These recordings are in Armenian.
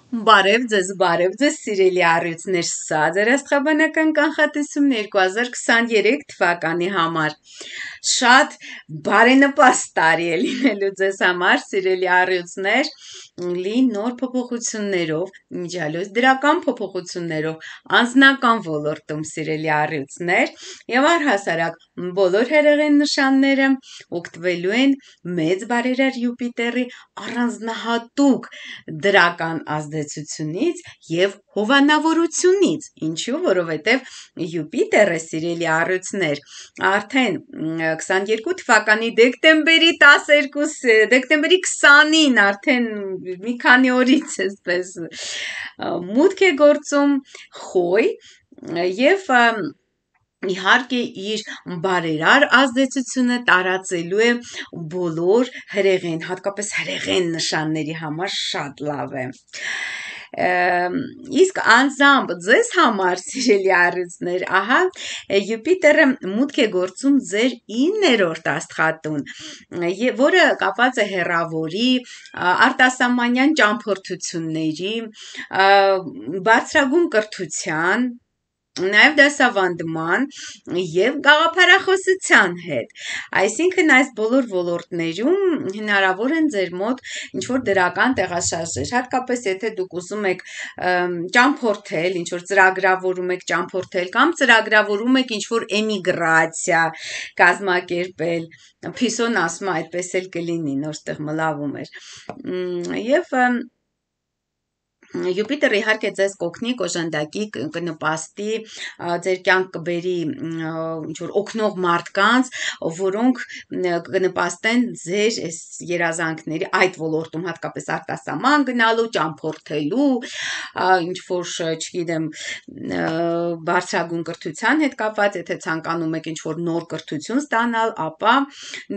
Բարև ձեզ, սիրելի առյուծներ, սա ձեր աստղաբանական կանխատեսումն 2023 թվականի համար։ Շատ բարենպաստ տարի է լինելու ձեզ համար, սիրելի առյուծներ, լի նոր փոփոխություններով, իմիջիալոց դրական փոփոխություններով, անձնական ոլորտում, սիրելի առյուծներ, եւ առհասարակ բոլոր հերեղեն նշանները օգտվելու են մեծ բարերար Յուպիտերի առանձնահատուկ դրական ազդեցությունից եւ հովանավորությունից, ինչու, որովհետեւ Յուպիտերը, սիրելի առյուծներ, արդեն 22 թվականի դեկտեմբերի 20-ին արդեն մի քանի օրից էսպես մուտք է գործում խոյ եւ իհարկե իր բարերար ազդեցությունը տարածելու է բոլոր հրեղեն, հատկապես հրեղեն նշանների համար շատ լավ է։ Իսկ անձամբ ձեզ համար, սիրելի առյուծներ, ահա Յուպիտերը մուտք է գործում ձեր 9-րդ աստղատուն, որը կապված է հեռավորի, արտասահմանյան ճամփորդությունների, բարձրագույն կրթության, նաև դասավանդման եւ գաղափարախոսության հետ։ Այսինքն այս բոլոր ոլորտներում հնարավոր են ձեր մոտ ինչ-որ դրական տեղաշարժեր, հատկապես եթե դուք ուզում եք ճամփորդել, ինչ-որ ծրագրավորում եք ճամփորդել կամ ծրագրավորում եք ինչ-որ էմիգրացիա կազմակերպել, Փիսոն ասում է այդպես էլ կլինի, նոր տեղ մլավում էր։ Եվ Յուպիտերը իհարկե ձեզ կօգնի, կօժանդակի, կնպաստի, ձեր կյանք կբերի ինչ-որ օգնող մարդկանց, որոնք կնպաստեն ձեր այս երազանքների այդ ոլորտում, հատկապես արտասահման գնալու, ճամփորդելու, ինչ-որ, չգիտեմ, բարձրագույն կրթության հետ կապված, եթե ցանկանում եք ինչ-որ նոր կրթություն ստանալ, ապա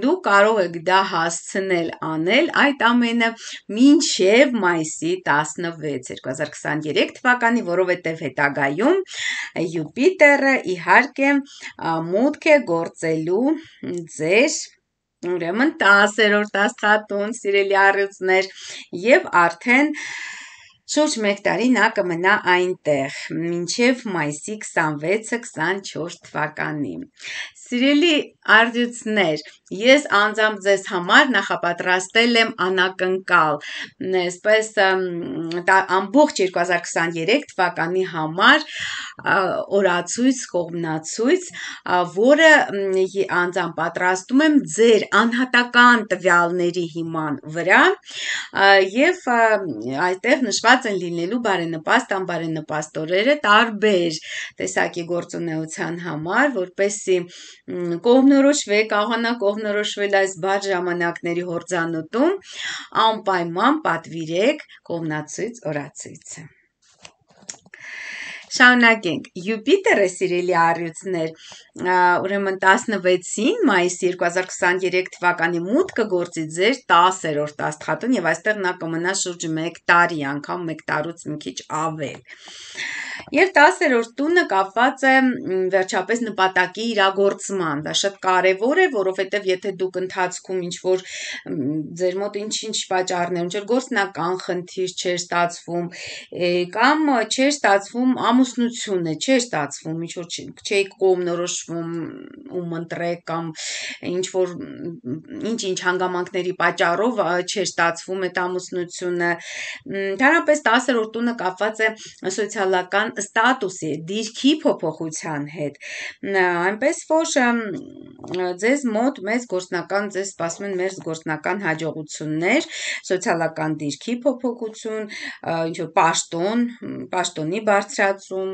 դուք կարող եք դա հասցնել անել այդ ամենը մինչև մայիսի 16 2023 թվականի, որովհետև հետագայում Յուպիտերը իհարկե մուտք է գործելու ձեր ուրեմն 10-րդ աստղատուն, սիրելի առյուծներ, եւ արդեն շուրջ 1 տարի նա կմնա այնտեղ, մինչև մայիսի 26-24 թվականի։ Սիրելի առյուծներ, ես անձամբ ձեզ համար նախապատրաստել եմ անակնկալ, այսպես ամբողջ 2023 թվականի համար օրացույց, կողմնացույց, որը անձամբ պատրաստում եմ ձեր անհատական տվյալների հիման վրա եւ այդտեղ նշված են լինելու բարենպաստ, անբարենպաստ օրերը տարբեր տեսակի գործունեության համար, որպեսզի կողմնորոշվեք, կարողանաք կողմնորոշվել այս բարդ ժամանակների հորձանուտում, անպայման պատվիրեք կողմնացույց օրացույցը։ Շարունակենք, Յուպիտերը, սիրելի առյուծներ, ուրեմն 16-ին մայիսի 2023 թվականի մուտք կգործի ձեր 10-րդ աստղատուն եւ այստեղ նա կմնա շուրջ 1 տարի, անգամ 1 տարուց մի քիչ ավել։ Եվ 10-րդ տունը կապված է վերջապես նպատակի իրագործման, դա շատ կարևոր է, որովհետև եթե դուք ընթացքում ինչ-որ ձեր մոտ ինչ-ինչ պատճառներ, ինչ-որ գործնական խնդիր չէր ստացվում, կամ չէր ստացվում ամուսնությունը, չէր ստացվում, ինչ-որ չէի կողմնորոշվում ում ընտրեք կամ ինչ-որ ինչ-ինչ հանգամանքների պատճառով չէր ստացվում այդ ամուսնությունը, ընդհանրապես 10-րդ տունը կապված է սոցիալական ստատուսի, դիրքի փոփոխության հետ, այնպես որ ձեզ մոտ մեծ գործնական, ձեզ սպասում են մեծ գործնական հաջողություններ, սոցիալական դիրքի փոփոխություն, ինչ-որ պաշտոնի բարձրացում,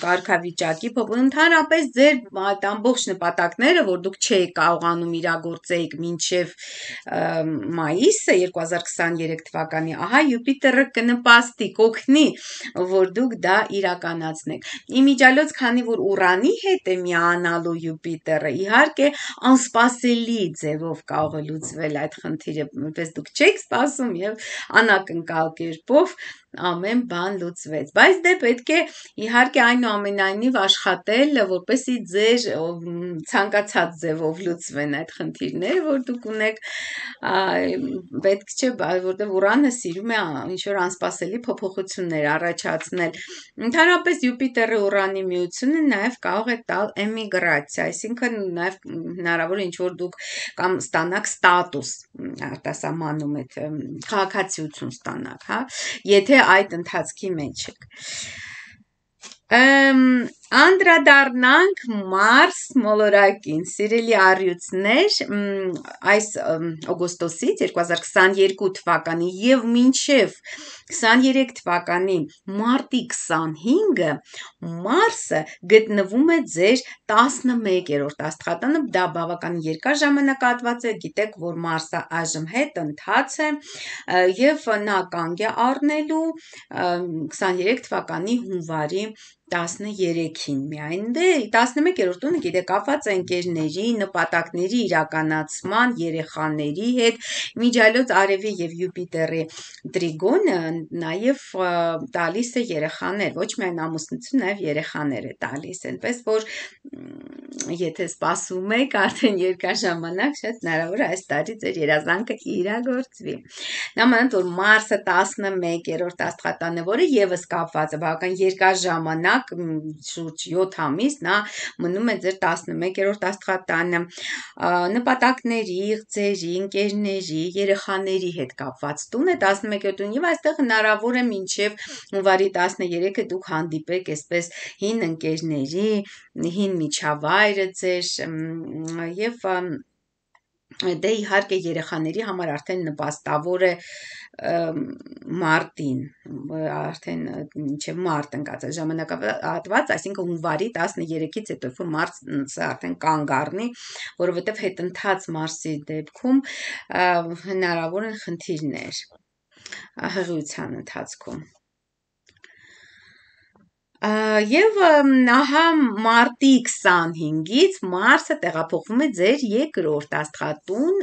կարգավիճակի փոփոխություն, ընդհանրապես ձեր այդ ամբողջ նպատակները, որ դուք չեք կարողանում իրագործեիք մինչև մայիսը 2023 թվականի, ահա Յուպիտերը կնպաստի, կօգնի, որ դուք դա իրականացնեք։ Իմիջիալոց, քանի որ Ուրանի հետ է միանալու Յուպիտերը, իհարկե անսպասելի ձևով կարող է լուծվել այդ խնդիրը, որպես դուք չեք սպասում եւ անակնկալ կերպով ամեն բան լուծվեց, բայց դե պետք է իհարկե այնուամենայնիվ աշխատել, որպեսզի ձեր ցանկացած ձևով լուծվեն այդ խնդիրները, որ դուք ունեք, պետք չէ, որտեղ Ուրանը սիրում է ինչ-որ անսպասելի փոփոխություններ առաջացնել։ Ընդհանրապես Յուպիտերը Ուրանի միությունը նաև կարող է տալ էմիգրացիա, այսինքն նաև հնարավոր է ինչ-որ դուք կամ ստանաք ստատուս արտասահմանում եք, քաղաքացիություն ստանաք, հա, եթե այդ ընթացքի մեջ եք։ Անդրադառնանք Մարս մոլորակին, սիրելի առյուծներ, այս օգոստոսից 2022 թվականի եւ մինչեւ 23 թվականի մարտի 25-ը Մարսը գտնվում է ձեր 11-րդ աստղատանը, դա բավական երկար ժամանակահատված է, գիտեք, որ Մարսը այժմ հետընթաց է եւ նա կանգ է առնելու 23 թվականի հունվարի 13-ին միայն, դե 11-րդ տունը գիտեք կապված է ընկերների, նպատակների իրականացման, երեխաների հետ, միջայլոց արևի եւ Յուպիտերի տրիգոնը նաեւ տալիս է երեխաներ, ոչ միայն ամուսնություն, նաեւ երեխաներ է տալիս, այնպես որ եթե սպասում եք արդեն երկար ժամանակ, շատ հնարավոր է այս տարի ձեր երազանքը իրագործվի։ Նամանդ որ Մարսը 11-րդ աստղատանը, որը եւս կապված է բավական երկար ժամանակ, շուրջ 7 ամիս, նա մնում է ձեր 11-րդ աստղատանը, նպատակների, იღծերի, ընկերների, երեխաների հետ կապված տուն է 11-րդ տուն եւ այստեղ հնարավոր է մինչեւ հունվարի 13-ը դուք հանդիպեք այսպես հին ընկերների, հին միջավայրը ձեր եւ դե իհարկե երեխաների համար արդեն նպաստավոր է մարտին, արդեն մինչև մարտ ընկած է ժամանակահատված, այսինքն հունվարի 13-ից հետո երբ Մարսը արդեն կանգ առնի, որովհետև հետընթաց Մարսի դեպքում հնարավոր են խնդիրներ հղիության ընթացքում։ Եվ ահա մարտի 25-ից Մարսը տեղափոխվում է ձեր երկրորդ աստղատուն,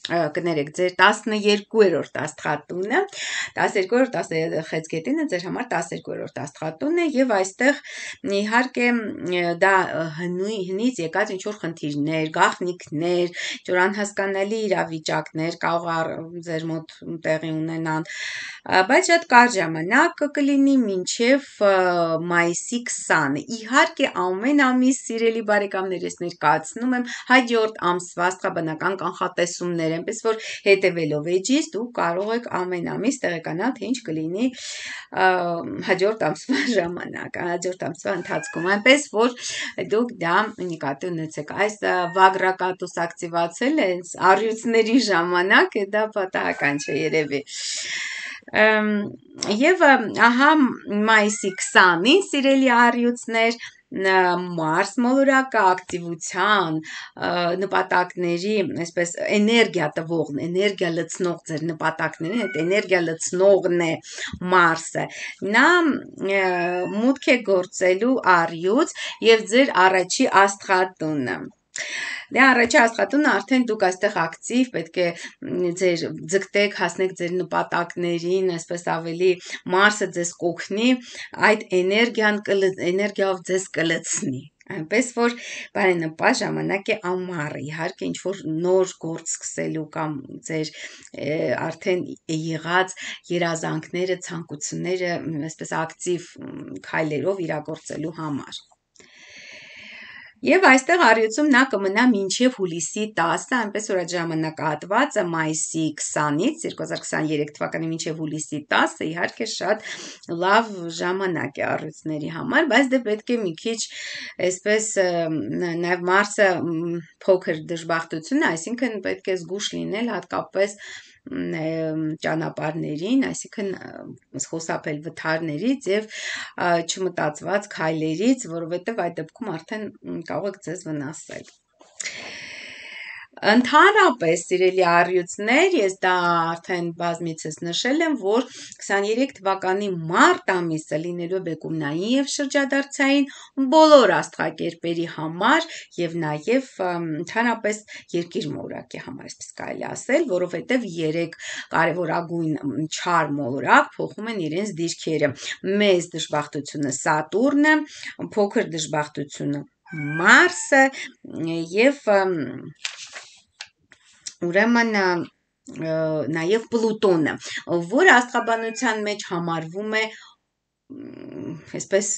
կներեք, ձեր 12-րդ աստղատունը, 12-րդ խեցգետինը ձեր համար 12-րդ աստղատունն է եւ այստեղ իհարկե դա հնից եկած ինչ-որ խնդիրներ, գաղտնիքներ, ինչ-որ անհասկանալի իրավիճակներ կարող ձեր մոտ տեղի ունենան, բայց շատ կարճ ժամանակ կլինի մինչև մայիսի 20-ը։ Իհարկե ամեն ամիս սիրելի բարեկամներ, ես ներկայացնում եմ հաջորդ ամսվա աստղաբանական կանխատեսումներ, այնպես որ հետևելով էջից դուք կարող եք ամեն ամիս տեղեկանալ, թե ինչ կլինի հաջորդ ամսվա ժամանակ, հաջորդ ամսվա ընթացքում, այնպես որ դուք դա նկատի ունեցեք։ Այս վագրակատուս ակտիվացել է առյուծների ժամանակ, դա պատահական չէ երևի։ Եվ ահա մայիսի 20-ին սիրելի առյուծներ Մարս մոլորակը ակտիվության նպատակների, այսպես էներգիա տվող, էներգիա լցնող ձեր նպատակներին, այդ էներգիա լցնողն է Մարսը։ Նա մուտք է գործելու առյուծ եւ ձեր առաջի աստղատունը։ Դե առաջի աստղատունը արդեն դուք այստեղ ակտիվ պետք է ձեր ձգտեք, հասնեք ձեր նպատակներին, այսպես ավելի Մարսը ձեզ կօգնի այդ էներգիայով ձեզ կլցնի։ Այնպես որ բարենպաստ ժամանակ է ամառը, իհարկե ինչ որ նոր գործ սկսելու կամ ձեր արդեն եղած երազանքները, ցանկությունները այսպես ակտիվ քայլերով իրագործելու համար։ Եվ այստեղ առյուծում նա կմնա մինչև հուլիսի 10-ը, այնպես որ այդ ժամանակահատվածը մայիսի 20-ից 2023 թվականի մինչև հուլիսի 10-ը իհարկե շատ լավ ժամանակ է առյուծների համար, բայց դե պետք է մի քիչ այսպես նաև Մարսը փոքր դժբախտություն է, այսինքն պետք է զգուշ լինել հատկապես ճանապարհներին, այսինքն խուսափել վթարներից եւ չմտածված քայլերից, որովհետեւ այդ դեպքում արդեն կարող եք ձեզ վնասել։ Ընդհանրապես, սիրելի առյուծներ, ես դա արդեն բազմիցս նշել եմ, որ 23 թվականի մարտ ամիսը լինելու բեկումնային եւ շրջադարձային բոլոր աստղակերպերի համար եւ նաեւ ընդհանրապես երկիր մոլորակի համար, այսպես կարելի ասել, որովհետեւ 3 կարևորագույն չար մոլորակ փոխում են իրենց դիրքերը։ Մեծ դժբախտությունը Սատուրնը, փոքր դժբախտությունը Մարսը եւ ուրեմն նաև Պլուտոնը, որը աստղաբանության մեջ համարվում է այսպես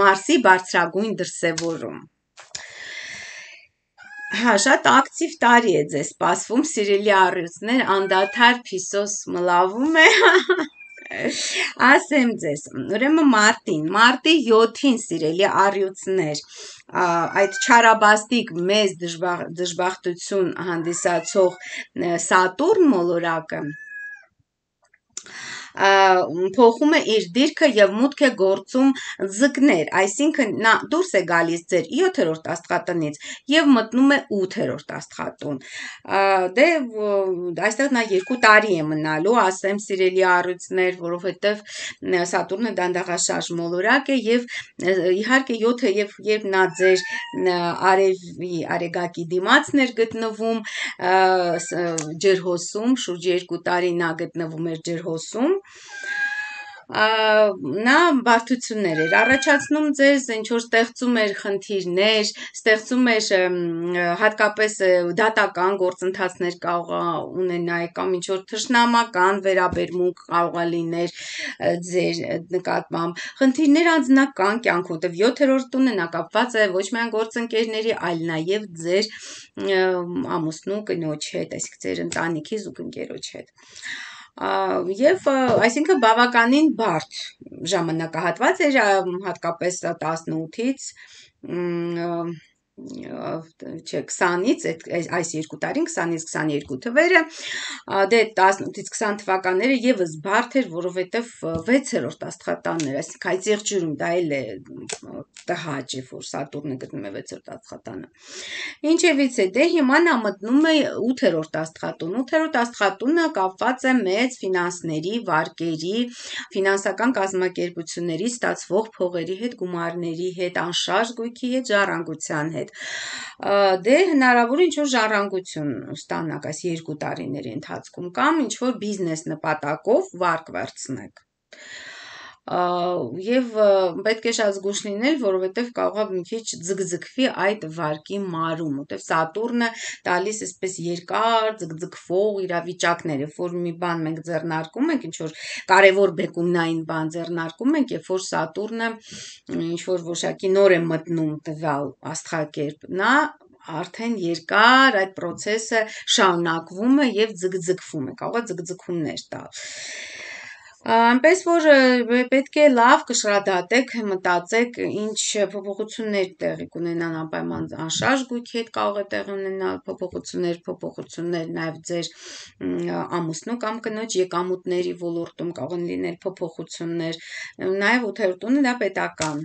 Մարսի բարձրագույն դրսևորում։ Հա, շատ ակտիվ տարի է ձեզ սպասվում, սիրելի առյուծներ, անդադար փիսոս մլավում է։ Ասեմ ձեզ, ուրեմն մարտի 7-ին սիրելի առյուծներ, այդ չարաբաստիկ մեծ դժբախտություն հանդիսացող Սատուրն մոլորակը փոխում է իր դիրքը եւ մուտք է գործում ձկներ, այսինքն նա դուրս է գալիս ձեր 7-րդ աստղատնից եւ մտնում է 8-րդ աստղատուն։ Դե այստեղ նա 2 տարի է մնալու, ասեմ սիրելի առյուծներ, որովհետեւ Սատուրնը դանդաղաշարժ մոլորակ է եւ իհարկե 7-ը երբ նա ձեր արեգակի դիմացն էր գտնվում ջրհոսում, շուրջ 2 տարի նա գտնվում էր ջրհոսում, նա բարդություններ էր առաջացնում ձեզ, ինչ որ ստեղծում էր խնդիրներ, ստեղծում էր հատկապես դատական գործընթացներ կարող ունենալ կամ ինչ որ թշնամական վերաբերմունք կարող լիներ ձեր նկատմամբ, խնդիրներ անձնական կյանքում, որտեվ 7-րդ տունը նա կապված է ոչ միայն գործընկերների, այլ նաև ձեր ամուսնու կնոջ հետ, այսինքն ձեր ընտանիքի զուգընկերոջ հետ։ Եվ այսինքն բավականին բարդ ժամանակահատված էր հատկապես 18-ից 20-ից այս 2 տարին 20-ից 22 թվերը դե 18-ից 20 թվականները եւս բարդ էր, որովհետեւ 6-րդ աստղատանն էր, այսինքն այդ եղջյուրում դա էլ է տհաճ է, որ Սատուրնը գտնում է 6-րդ աստղատանը։ Ինչևից է, դե հիմա նա մտնում է 8-րդ աստղատուն։ 8-րդ աստղատունը կապված է մեծ ֆինանսների, վարկերի, ֆինանսական կազմակերպությունների ստացվող փողերի հետ, գումարների հետ, անշարժ գույքի հետ, ժառանգության հետ։ Դե հնարավոր է ինչ-որ ժառանգություն ստանաք այս 2 տարիների ընթացքում կամ ինչ-որ բիզնես նպատակով վարկ վերցնեք։ Եվ պետք է շատ զգույշ լինել, որովհետև կարող է մի քիչ ձգձգվի այդ վարկի մարում, որտեվ Սատուրնը տալիս այսպես երկար ձգձգվող իրավիճակներ, երբ որ մի բան մենք ձեռնարկում ենք, ինչ որ կարևոր բեկումնային բան ձեռնարկում ենք, երբ որ Սատուրնը ինչ որ որոշակի նոր է մտնում տվյալ աստղակերպ, նա արդեն երկար այդ process-ը շարունակվում է եւ ձգձգվում է, կարող է ձգձգումներ տալ։ Այնպես որ պետք է լավ կշռադատեք, մտածեք, ինչ փոփոխություններ տեղի կունենան անպայման անշարժ գույքի հետ կարող է տեղի ունենալ փոփոխություններ նաև ձեր ամուսնու կամ կնոջ եկամուտների ոլորտում կարող են լինել փոփոխություններ, նաև 8-րդ տունը դա պետական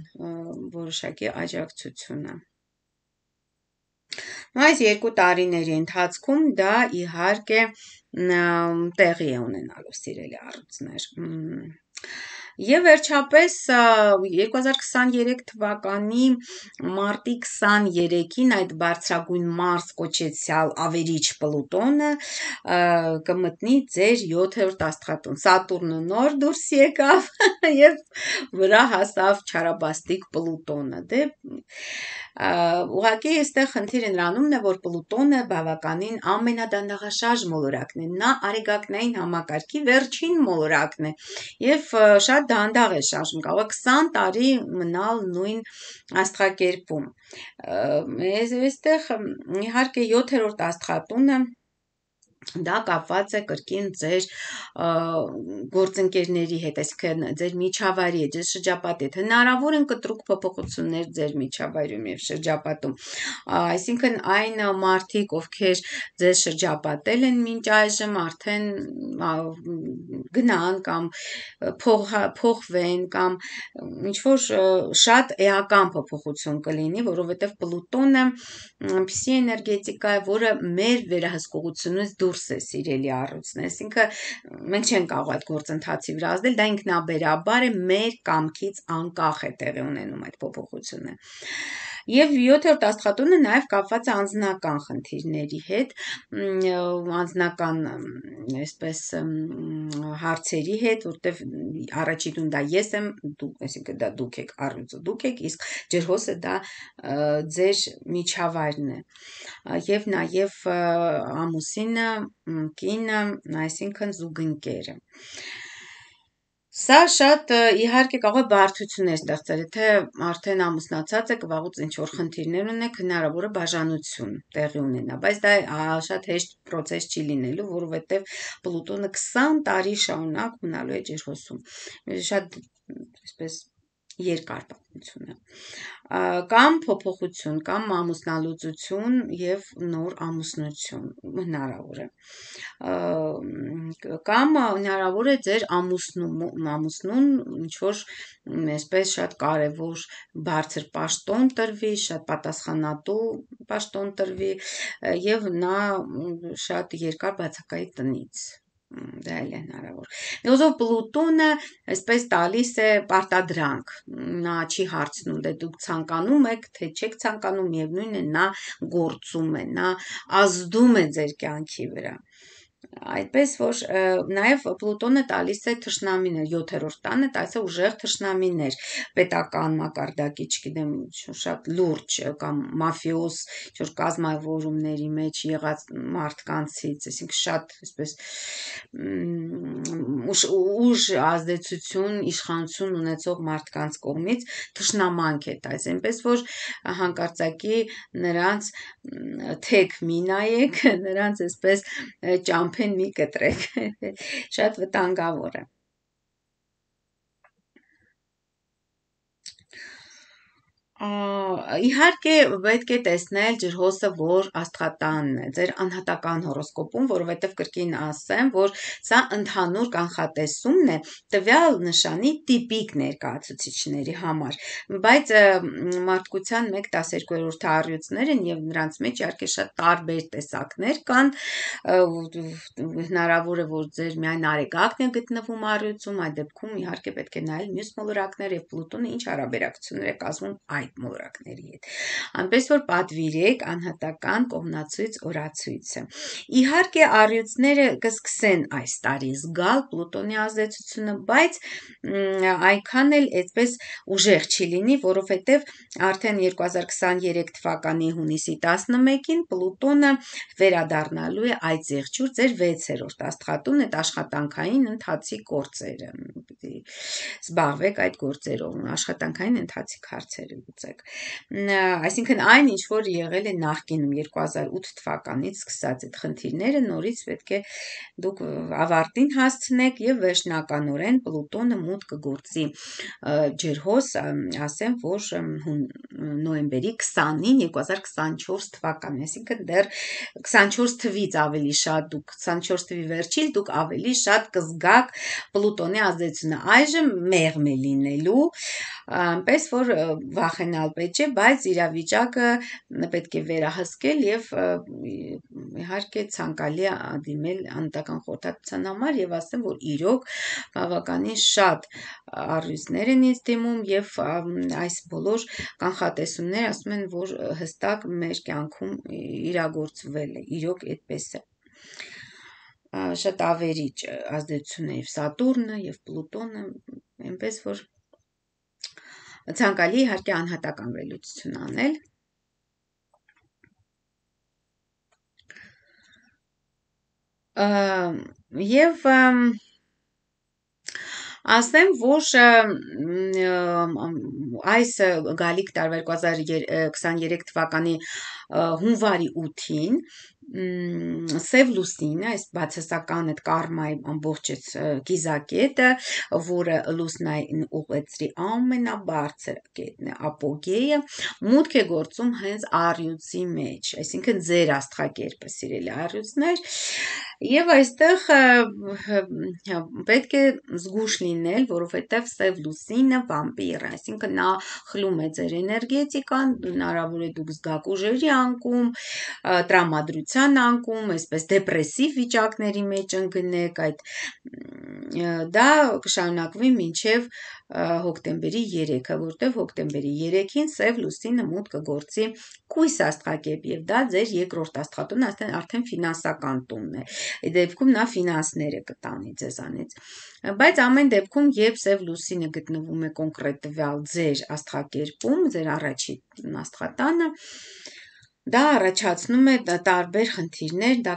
որոշակի աջակցություն է։ Այս 2 տարիների ընթացքում դա իհարկե տեղի է ունենալու սիրելի առյուծներ։ Եվ վերջապես 2023 թվականի մարտի 23-ին այդ բարձրագույն Մարս կոչեցյալ ավերիչ Պլուտոնը կմտնի ձեր 7-րդ աստղատուն։ Սատուրնը նոր դուրս եկավ եւ վրա հասավ չարաբաստիկ Պլուտոնը։ Դե ուղղակի այստեղ խնդիրը նրանումն է, որ Պլուտոնը բավականին ամենադանդաղաշարժ մոլորակն է, նա արեգակնային համակարգի վերջին մոլորակն է եւ շատ դանդաղ է շարժում, կարող է 20 տարի մնալ նույն աստղակերպում։ Այստեղ իհարկե 7-րդ աստղատունը դա կապված է կրկին ձեր գործընկերների հետ, այսինքն ձեր միջավայրի հետ, ձեր շրջապատի հետ, հնարավոր են կտրուկ փոփոխություններ ձեր միջավայրում եւ շրջապատում, այսինքն այն մարդիկ, ովքեր ձեզ շրջապատել են մինչ այժմ, արդեն գնան կամ փոխվեն կամ ինչ որ շատ էական փոփոխություն կլինի, որովհետեւ Պլուտոնը այնպիսի էներգետիկա է, որը մեր վերահսկողությունից դուրս է, սիրելի առույցներ, այսինքն մենք չենք կարող այդ գործընթացի վրա ազդել, դա ինքնաբերաբար է, մեր կամքից անկախ է տեղի ունենում այդ փոփոխությունը։ Եվ 7-րդ աստղատունը նաև կապված է անձնական խնդիրների հետ, անձնական այսպես հարցերի հետ, որտեվ առաջին դա ես եմ, այսինքն դա դուք եք, առույցը դուք եք, իսկ ջրհոսը դա ձեր միջավայրն է, եւ նաեւ ամուսինը, կինը, այսինքն զուգընկերը։ Սա շատ իհարկե կարող է բարդություններ ստեղծել, եթե արդեն ամուսնացած եք, վաղուց ինչ-որ խնդիրներ ունեք, հնարավոր է բաժանություն տեղի ունենա, բայց դա շատ հեշտ պրոցես չի լինելու, որովհետև Պլուտոնը 20 տարի շարունակ մնալու է ջրհոսում, շատ այսպես երկար պատմություն է, կամ փոփոխություն, կամ ամուսնալուծություն եւ նոր ամուսնություն հնարավոր է, կամ հնարավոր է ձեր ամուսնուն ինչ-որ այսպես շատ կարևոր բարձր պաշտոն տրվի, շատ պատասխանատու պաշտոն տրվի եւ նա շատ երկար բացակայի տնից, դա էլ է հնարավոր։ Միոզով Պլուտոնը այսպես տալիս է պարտադրանք, նա չի հարցնում, դե դուք ցանկանում եք, թե չեք ցանկանում, միևնույն է նա գործում է, նա ազդում է ձեր կյանքի վրա։ Այդպես որ նաև Պլուտոնը տալիս է թշնամիներ, 7-րդ տանը տալիս է ուժեղ թշնամիներ, պետական մակարդակի, չգիտեմ, շատ լուրջ կամ մաֆիոզ, ինչ-որ կազմավորումների մեջ եղած մարդկանցից, այսինքն շատ այսպես ուժ ազդեցություն, իշխանություն ունեցող մարդկանց կողմից թշնամանք է տալիս, այնպես որ հանկարծակի նրանց թեք մի նայեք, նրանց այսպես ճամփեն մի կտրեք, շատ վտանգավոր է։ Իհարկե պետք է տեսնել ջրհոսը որ աստղատանն է, ձեր անհատական հորոսկոպում, որովհետև կրկին ասեմ, որ սա ընդհանուր կանխատեսումն է տվյալ նշանի տիպիկ ներկայացուցիչների համար, բայց մարդկության 1/12 առյուծներ են եւ նրանց մեջ իհարկե շատ տարբեր տեսակներ կան, հնարավոր է որ ձեր միայն արեգակն է գտնվում առյուծում, այդ դեպքում իհարկե պետք է նայել մյուս մոլորակներ եւ Պլուտոնը ինչ հարաբերակցություններ է կազմում այդ մոլորակների հետ, այնպես որ պատվիրեք անհատական կողմնացույց օրացույցը։ Իհարկե առյուծները կսկսեն այս տարի զգալ Պլուտոնի ազդեցությունը, բայց այնքան էլ այդպես ուժեղ չի լինի, որովհետև արդեն 2023 թվականի հունիսի 11-ին Պլուտոնը վերադառնալու է այդ զեղչուր ձեր 6-րդ աստղատուն, այդ աշխատանքային ընթացիկ գործերը, պիտի զբաղվեք այդ գործերով, աշխատանքային ընթացիկ հարցերը լուծեք, այսինքն այն ինչ որ եղել է նախկինում 2008 թվականից սկսած այդ խնդիրները նորից պետք է դուք ավարտին հասցնեք եւ վերջնականորեն Պլուտոնը մուտք կգործի ջրհոս, ասեմ որ նոյեմբերի 20-ին 2024 թվականին, այսինքն դեռ 24 թվից ավելի շատ դուք 24 թվի վերջից դուք ավելի շատ կզգաք Պլուտոնի ազդեցությունը, այժմ մեղմ է լինելու, այնպես որ վախենալ պետք չէ, բայց իրավիճակը պետք է վերահսկել եւ իհարկե ցանկալի է դիմել անհատական խորհրդատվության համար եւ ասեմ որ իրոք բավականին շատ առույցներ են ինձ դիմում եւ այս բոլոր կանխատեսումները ասում են որ հստակ մեր կյանքում իրագործվել է, իրոք այդպես է, շատ ավերիչ ազդեցություն է եւ Սատուրնը եւ Պլուտոնը, այնպես որ ցանկալի իհարկե անհատական վերլուծություն անել։ Եվ ասեմ, որ այս գալիք տարվա 2023 թվականի հունվարի 8-ին Սև լուսինը, այս բացասական այդ կարմայի ամբողջ կիզակետը, որը լուսնային ուղեցրի ամենաբարձր կետն է, ապոգեյը, մուտք է գործում հենց առյուծի մեջ, այսինքն ձեր աստղակերպը, սիրելի առյուծներ, եւ այստեղ պետք է զգուշ լինել, որովհետեւ Սև լուսինը վամպիր է, այսինքն նա խլում է ձեր էներգետիկան, հնարավոր է դուք զգաք ուժերի անկում, տրամադրության անկում, այսպես դեպրեսիվ վիճակների մեջ ընկնեք, դա կշարունակվի մինչև հոկտեմբերի 3-ը, որտեղ հոկտեմբերի 3-ին Սև լուսինը մուտք կգործի կույս աստղակերպ եւ դա ձեր երկրորդ աստղատունն արդեն ֆինանսական տունն է։ Այդ դեպքում նա ֆինանսները կտանի ձեզանից։ Բայց ամեն դեպքում, երբ Սև լուսինը գտնվում է կոնկրետվալ ձեր աստղակերպում, ձեր առաջին աստղատանը, դա առաջացնում է տարբեր խնդիրներ, դա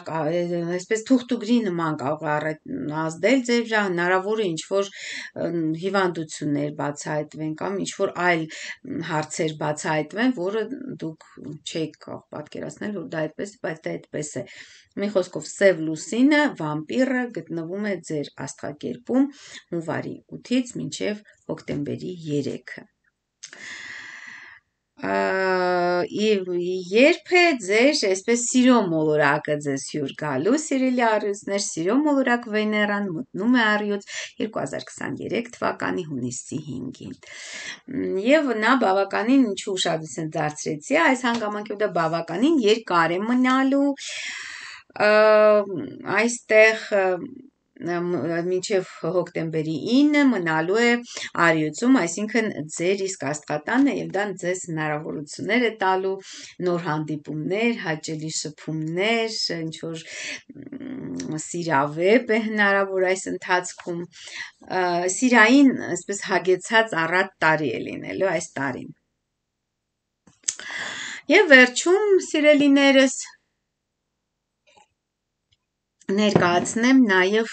այսպես թուղթուգրի նման կարող է ազդել ձեր վրա, հնարավոր է ինչ-որ հիվանդություններ բացահայտվեն կամ ինչ-որ այլ հարցեր բացահայտվեն, որը դուք չեք կարող պատկերացնել, որ դա այդպես, բայց դա այդպես է։ Մի խոսքով Սև լուսինը, վամպիրը գտնվում է ձեր աստղակերպում հունվարի 8-ից մինչև հոկտեմբերի 3-ը։ Երբ է ձեր այսպես սիրո մոլորակը ձեզ հյուր գալու, սիրելի առյուծներ, սիրո մոլորակ Վեներան մտնում է առյուծ 2023 թվականի հունիսի 5-ին։ Եվ նա բավականին ինչու ուշադրություն դարձրեցի, այս հանգամանքով դա բավականին երկար է մնալու, այստեղ մինչև հոկտեմբերի 9-ը մնալու է առյուծում, այսինքն ձեր իսկ աստղատանը եւ դա ձեզ հնարավորություններ է տալու, նոր հանդիպումներ, հաճելի շփումներ, ինչ-որ սիրավեպ է հնարավոր այս ընթացքում, սիրային, այսպես հագեցած առատ տարի է լինելու այս տարին։ Եվ վերջում, սիրելիներս, ներկայացնեմ նաև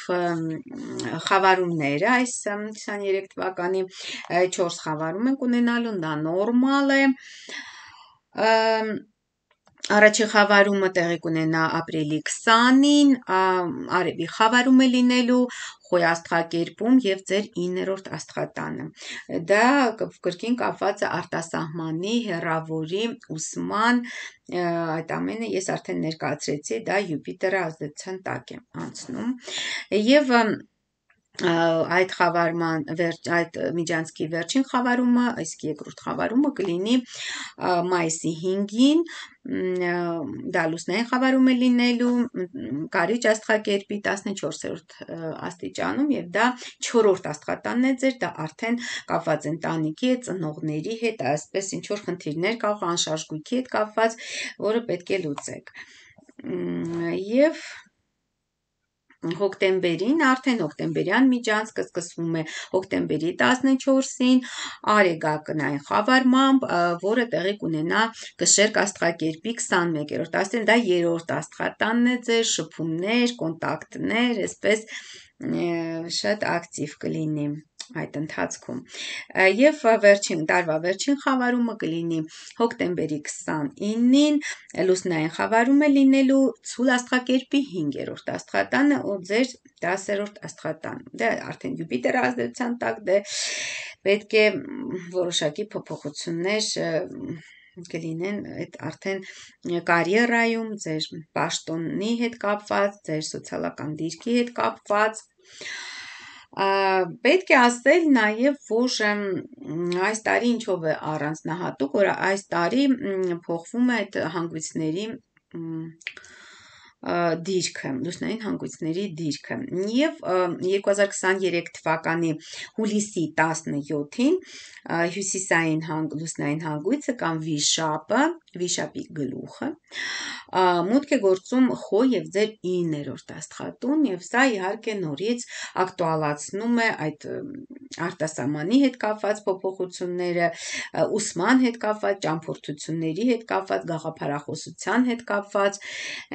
խավարումները, այս 23 թվականի 4 խավարում ենք ունենալու, դա նորմալ է, առաջին խավարումը տեղի կունենա ապրիլի 20-ին, արևի խավարում է լինելու Խոյ աստղակերպում եւ ձեր 9-րդ աստղատանը։ Դա կրկին կապված է արտասահմանի, հեռավորի, ուսման, այդ ամենը ես արդեն ներկայացրեցի, դա Յուպիտերը ազդեցության տակ է անցնում։ Եվ այդ խավարման այդ միջանցքի վերջին խավարումը, իսկ երկրորդ խավարումը կլինի մայիսի 5-ին, դա լուսնային խավարում է լինելու Կարիճ աստղակերպի 14-րդ աստիճանում եւ դա 4-րդ աստղատանն է ձեր, դա արդեն կապված ընտանիքի հետ, ծնողների հետ, այսպես ինչ որ խնդիրներ կարող անշարժ գույքի հետ կապված, որը պետք է լուծեք։ Եվ հոկտեմբերին, արդեն հոկտեմբերյան միջանցքը սկսվում է հոկտեմբերի 14-ին արեգակնային խավարմամբ, որը տեղի կունենա Կշերկ աստղակերպի 21-րդ աստիճան, դա 3-րդ աստղատանն է ձեր, շփումներ, կոնտակտներ, այսպես շատ ակտիվ կլինի այդ ընթացքում։ Եվ տարվա վերջին խավարումը կլինի հոկտեմբերի 29-ին, լուսնային խավարում է լինելու Ցուլ աստղակերպի 5-րդ աստղատանը ու ձեր 10-րդ աստղատանը։ Դա արդեն Յուպիտեր ազդեցության տակ, դե պետք է որոշակի փոփոխություններ կլինեն այդ արդեն կարիերայում, ձեր պաշտոնի հետ կապված, ձեր սոցիալական դիրքի հետ կապված։ Պետք է ասել նաև, որ այս տարի ինչով է առանձնահատուկ, որ այս տարի փոխվում է այդ հանգույցների դիրքը, լուսնային հանգույցների դիրքը։ Եվ 2023 թվականի հուլիսի 17-ին հյուսիսային լուսնային հանգույցը կամ վիշապը, վիշապի գլուխը, մուտք է գործում Խոյ եւ ձեր 9-րդ աստղատուն եւ սա իհարկե նորից ակտուալացնում է այդ արտասահմանի հետ կապված փոփոխությունները, ուսման հետ կապված, ճամփորդությունների հետ կապված, գաղափարախոսության հետ կապված,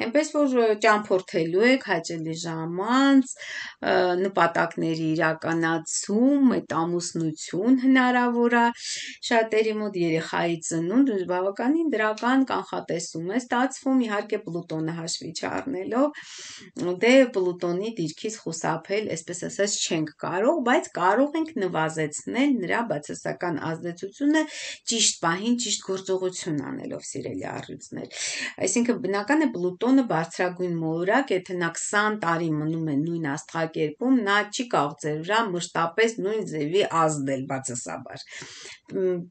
այնպես որ ճամփորդելու եք հաճելի ժամանց, նպատակների իրականացում, այդ ամուսնություն հնարավոր է շատերի մոտ, երեխայի ծնունդ, բավականին դրական կանխատեսում է ստացվում, իհարկե Պլուտոնը հաշվի չառնելով, դե Պլուտոնի դիրքից խուսափել, այսպես ասած, չենք կարող, բայց կարող ենք նվազեցնել նրա բացասական ազդեցությունը ճիշտ պահին ճիշտ գործողություն անելով, սիրելի առյուծներ։ Այսինքն բնական է Պլուտոնը բարձրագույն մոլորակ, եթե նա 20 տարի մնում է նույն աստղակերպում, նա չի կարող ձեր վրա մշտապես նույն ձևի ազդել բացասաբար։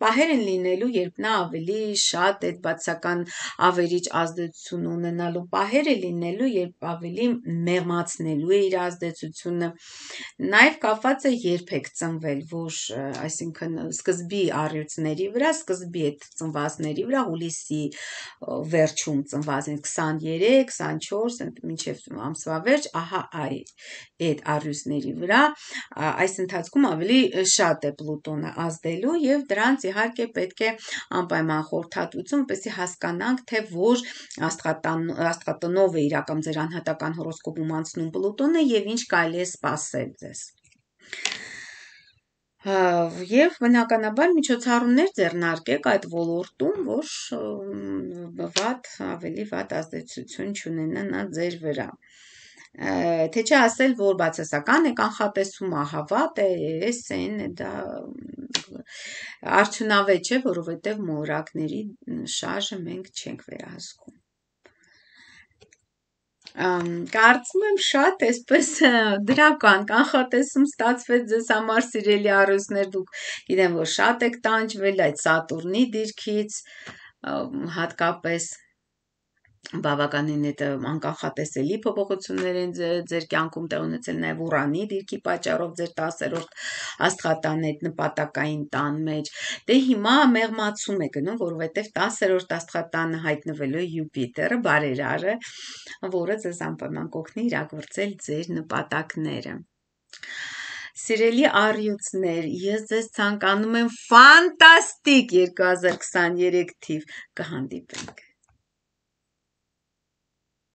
Պահեր են լինելու, երբ նա ավելի շատ այդ բացասական ավերիչ ազդեցություն ունենալու պահեր է լինելու, երբ ավելի մեղմացնելու է իր ազդեցությունը, նաև կապված է երբ եք ծնվել, որ այսինքն սկզբի առյուծների վրա, սկզբի այդ ծնվածների վրա, հուլիսի վերջում ծնված են 23, 24, մինչև ամսվա վերջ, ահա այդ առյուծների վրա, այս ընթացքում ավելի շատ է Պլուտոնը ազդելու և դրանց իհարկե պետք է անպայման խորհրդատվություն, որպեսզի հասկանանք, թե որ աստղատնով է իրականում ձեր անհատական հորոսկոպում անցնում Պլուտոնը և ինչ կարելի է սպասել ձեզ։ Եվ բնականաբար միջոցառումներ ձեռնարկեք այդ ոլորտում, որ ավելի վատ ազդեցություն չունենա նա ձեր վրա։ Թե չէ ասել, որ բացասական է կանխատեսում, ահավատ է, դա արդյունավետ չէ, որովհետև մոլորակների շարժը մենք չենք վերահսկում։ Կարծում եմ շատ այսպես դրական կանխատեսում ստացվեց ձեզ համար, սիրելի առյուծներ, դուք գիտեմ, որ շատ եք տանջվել այդ Սատուրնի դիրքից, հատկապես բավականին այդ անկանխատեսելի փոփոխություններ են ձեր կյանքում տեղ ունեցել նաև Ուրանի դիրքի պատճառով ձեր 10-րդ աստղատան այդ նպատակային տան մեջ։ Դե հիմա մեղմացում է գնում, որովհետև 10-րդ աստղատանը հայտնվելու է Յուպիտերը, բարերարը, որը ձեզ անպայման կօգնի իրագործել ձեր նպատակները։ Սիրելի առյուծներ, ես ձեզ ցանկանում եմ ֆանտաստիկ 2023 թիվ, կհանդիպենք։